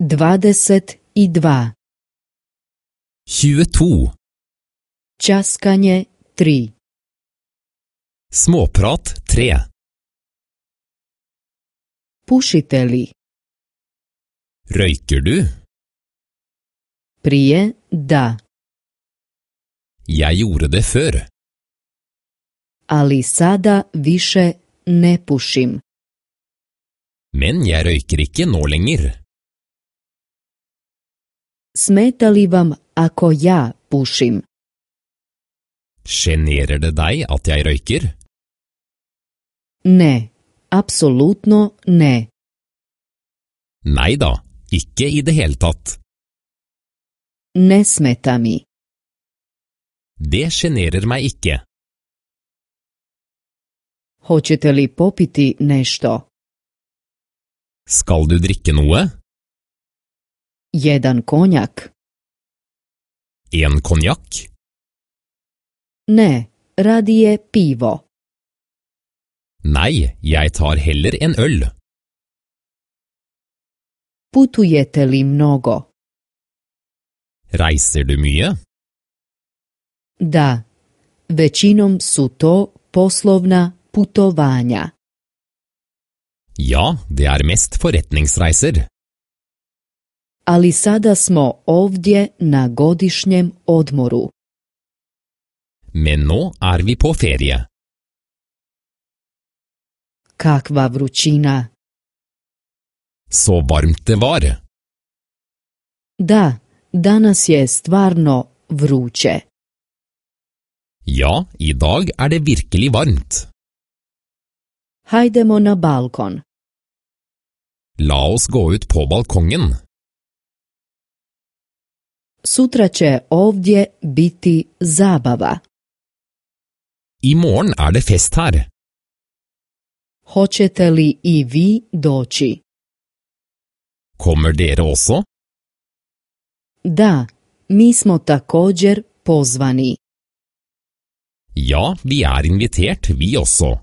22. 22. Časkanje 3. Småprat 3. Pušite li? Røyker du? Prije da, Jeg gjorde det før. ali sada više ne pušim. Men jeg røyker ikke nå lenger. Smeta li vam ako ja pušim? Generer det deg at jeg røyker? Ne, apsolutno ne. Nei da, ikke i det hele tatt. Ne smeta mi. Det generer meg ikke. Hoćete li popiti nešto? Skal du drikke noe? Jedan konjak? En konjakk? Ne, radije pivo. Nei, jeg tar heller en øl. Putujete li mnogo? Reiser du mye? Da, većinom su to poslovna putovanja. Ja, det er mest forretningsreiser. Ali sada smo ovdje na godišnjem odmoru. Men nå er vi på ferie. Kakva vrućina. Så varmt det var. Da, danas je stvarno vruće. Ja, i dag er det virkelig varmt. Hajdemo na balkon. La oss gå ut på balkongen. Sutra će ovdje biti zabava. I morgen er det fest her. Hoćete li i vi doći? Kommer dere også? Da, mi smo također pozvani. Ja, vi er invitert, vi også.